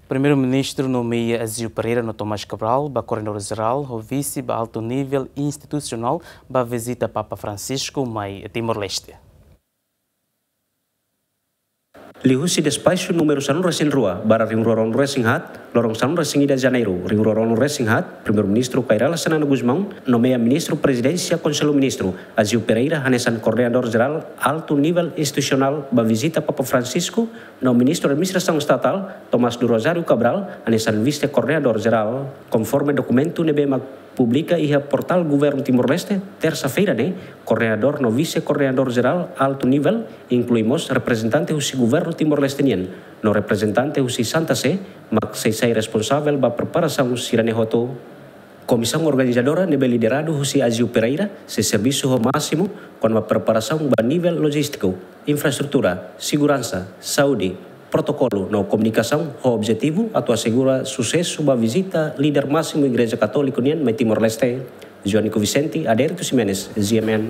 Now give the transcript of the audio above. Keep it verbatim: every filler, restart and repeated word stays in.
Primeiru-Ministru nomeia Aziu Pereira no Tomás Cabral ba Koordenadór Jerál, ho vise ba altu nivel institusionál ba vizita Papa Francisco mai Timor-Leste. Liuhusi despaxu númeru sanulu-resin-rua barra rihun rua ruanulu-resin-haat, loron sanulu-resin-ida Janeiru rihun rua ruanulu-resin-haat, Primeiru-Ministru Kay Rala Xanana Gusmão nomeia Ministru Prezidénsia Konsellu Ministru Aziu Pereira hanesan Koordenadór Jerál altu nivel institusionál ba vizita Papa Francisco, no Ministru Administrasaun Estatál Tomás do Rosário Cabral hanesan Vise-Koordenadór Jerál, konforme dokumentu ne'ebé mak publika iha portál Governu Timor-Leste, tersa-feira ne'e. Koordenadór no Vise-Koordenadór Jerál altu nivel inklui mós reprezentante husi Governu Timor-Leste nian no reprezentante husi Santa Sé, mak sei sai responsavel ba preparasaun sira-ne'e hotu. Komisaun organizadora ne'ebé lideradu husi Aziu Pereira sei servisu ho másimu kona-ba preparasaun ba nivel lojístiku, infraestrutura, seguransa, saúde, protokolu no komunikasaun, ho objetivu atu asegura susesu ba vizita líder másimu Igreja Katóliku nian mai Timor-Leste. Joanico Vicente, Adérito Ximenes, G M N.